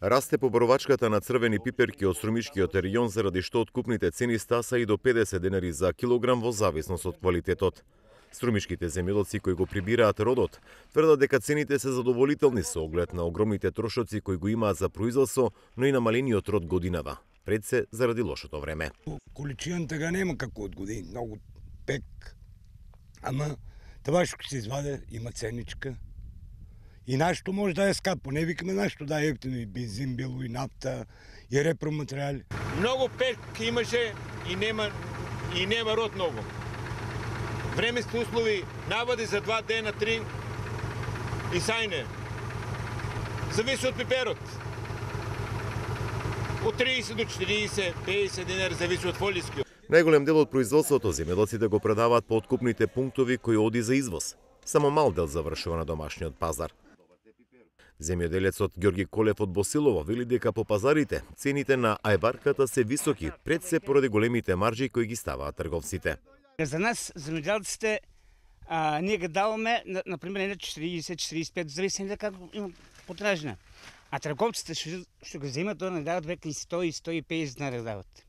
Расте поборовачката на црвени пиперки од струмишкиот регион заради што откупните цени стаса и до 50 денари за килограм во зависност од квалитетот. Струмишките земјоделци кои го прибираат родот тврдат дека цените се задоволителни со оглед на огромните трошоци кои го имаат за производство, но и намалениот род годинава, пред се заради лошото време. Количината га нема како од години, многу пек, ама това што се изваде има ценичка. И нашто може да е скапо, не викаме нашто да е ефтино, и бензин било, и нафта, и репроматеријали. Многу пек имаше и нема род многу. Временски услови навади за 2 дена, 3 и сајне. Зависи од пиперот. Од 30 до 40, 50 денари зависи од фолискиот. Најголем дел од производството земјоделците го предаваат по откупните пунктови кои оди за извоз. Само мал дел завршува на домашниот пазар. Земјоделецот Ѓорги Колев од Босилово вели дека по пазарите цените на ајварката се високи, пред се поради големите маржи кои ги ставаат трговците. За нас, земјоделците, ние ги даваме, например, на 40-45, зависи да како има потражна. А трговците што го земат, тоа не дават века и 100 и 150 денари дават.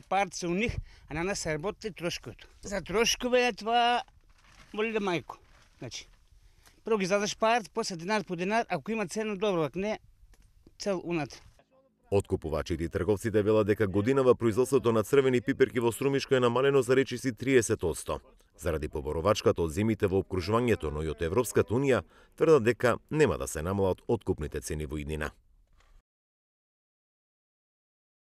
Парт се у них, а на нас се работи трошковото. За трошкове е това моли да мајко. Значи, прво ги задаш парт, после динар по динар, ако има цена добро, ако не, цел унатре. Откупувачите и трговците велат дека годинава производството на црвени пиперки во Струмишка е намалено за речиси 30%. Заради поборовачката од земите во опкружувањето, но и од Европската унија, тврдат дека нема да се намалат откупните цени во иднина.